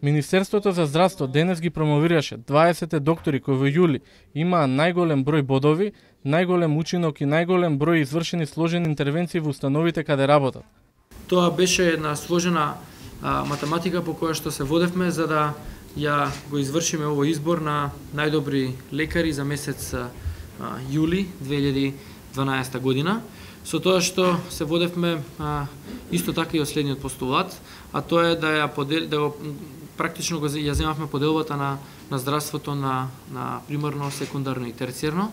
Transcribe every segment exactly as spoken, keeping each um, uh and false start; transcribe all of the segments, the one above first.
Министерството за здравство денес ги промовираше дваесет доктори кои во јули имаа најголем број бодови, најголем учинок и најголем број извршени сложени интервенции во установите каде работат. Тоа беше една сложена а, математика по која што се водевме за да ја го извршиме овој избор на најдобри лекари за месец а, јули две илјади и дванаесета година. Со тоа што се водевме а, исто така и од следниот постулат, а тоа е да ја подел, да го практично го ја земавме поделбата на на здравството на на примарно, секундарно и терцијерно.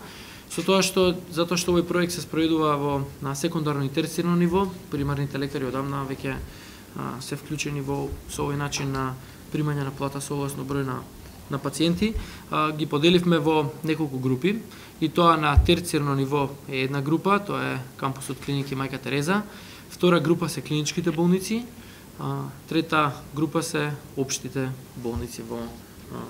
Со тоа што затоа што овој проект се спроведува во на секундарно и терцијерно ниво, примарните лекари одамна веќе а, се вклучени во со овој начин на примање на плата согласно број на на пациенти, а, ги поделивме во неколку групи и тоа на терцијерно ниво е една група, тоа е кампусот клиники Мајка Тереза, втора група се клиничките болници, а, трета група се општите болници во а,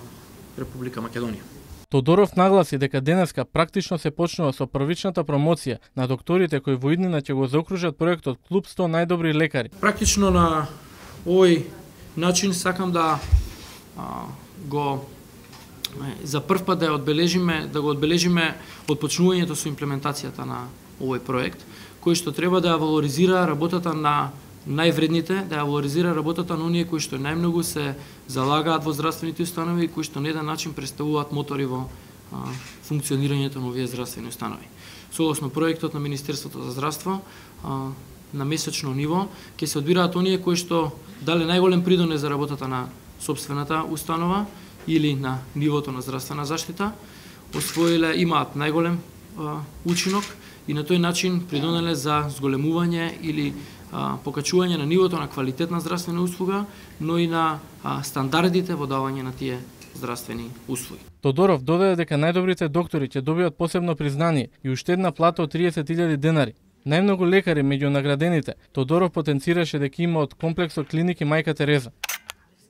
Република Македонија. Тодоров нагласи дека денеска практично се почнува со првичната промоција на докторите кои во иднина ќе го заокружат проектот Клуб сто најдобри лекари. Практично на овој начин сакам да а, го за прв пат да ја одбележиме, да го одбележиме отпочнувањето со имплементацијата на овој проект, кој што треба да ја валоризира работата на највредните, да ја валоризира работата на оние кои што најмногу се залагаат во здравствените установи и кои што на еден начин представуваат мотори во а, функционирањето на овие здравствени установи. Согласно проектот на Министерството за здравство, а, на месечно ниво ќе се одбираат оние кои што дале најголем придонес за работата на сопствената установа или на нивото на здравствена заштита, освоиле имаат најголем а, учинок и на тој начин придонеле за зголемување или а, покачување на нивото на квалитетна здравствена услуга, но и на а, стандардите во давање на тие здравствени услуги. Тодоров додаде дека најдобрите доктори ќе добијат посебно признание и уште една плата од триесет илјади денари. Најмногу лекари меѓу наградените Тодоров потенцираше дека има од комплексот клиники Мајка Тереза.